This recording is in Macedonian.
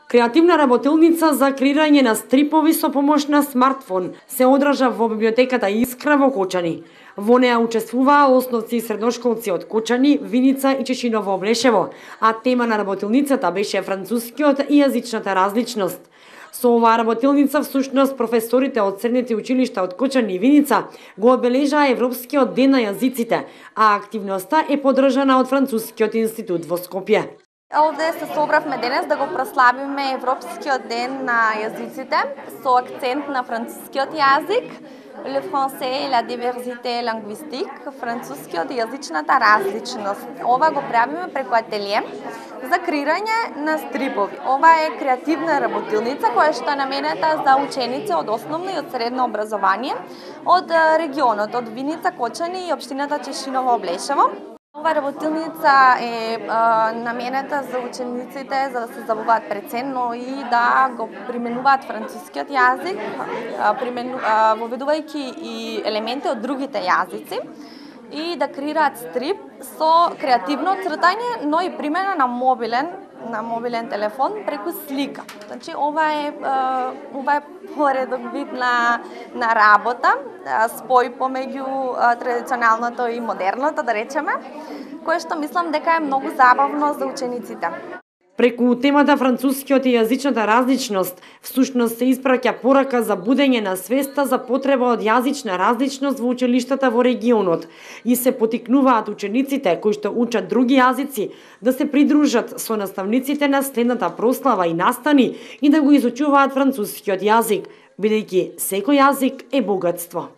Креативна работилница за креирање на стрипови со помош на смартфон се одржа во библиотеката Искра во Кочани. Во неа учествуваа основци и средношколци од Кочани, Виница и Чешиново Облешево, а тема на работилницата беше францускиот и јазичната различност. Со оваа работилница всушност професорите од средните училишта од Кочани и Виница го одбележаа Европскиот ден на јазиците, а активноста е поддржана од Францускиот институт во Скопје. Овде се собравме денес да го прославиме Европскиот ден на јазиците со акцент на францускиот јазик, le français et la diversité linguistique, францускиот и јазичната различност. Ова го правиме преку ателие за креирање на стрипови. Ова е креативна работилница која што е наменета за ученици од основно и од средно образование од регионот, од Виница, Кочани и општината Чешиново Облешево. Ова работилница е наменета за учениците за да се забавуваат преценно и да го применуваат францускиот јазик, воведувајќи и елементи од другите јазици и да креираат стрип со креативно цртање, но и примена на мобилен телефон преку слика. Значи ова е поредок вид на работа, спој помеѓу традиционалното и модерното, да речеме, кое што мислам дека е многу забавно за учениците. Преку темата францускиот и јазичната различност, всушност се испраќа порака за будење на свеста за потреба од јазична различност во училиштата во регионот и се потикнуваат учениците кои што учат други јазици да се придружат со наставниците на следната прослава и настани и да го изучуваат францускиот јазик, бидејќи секој јазик е богатство.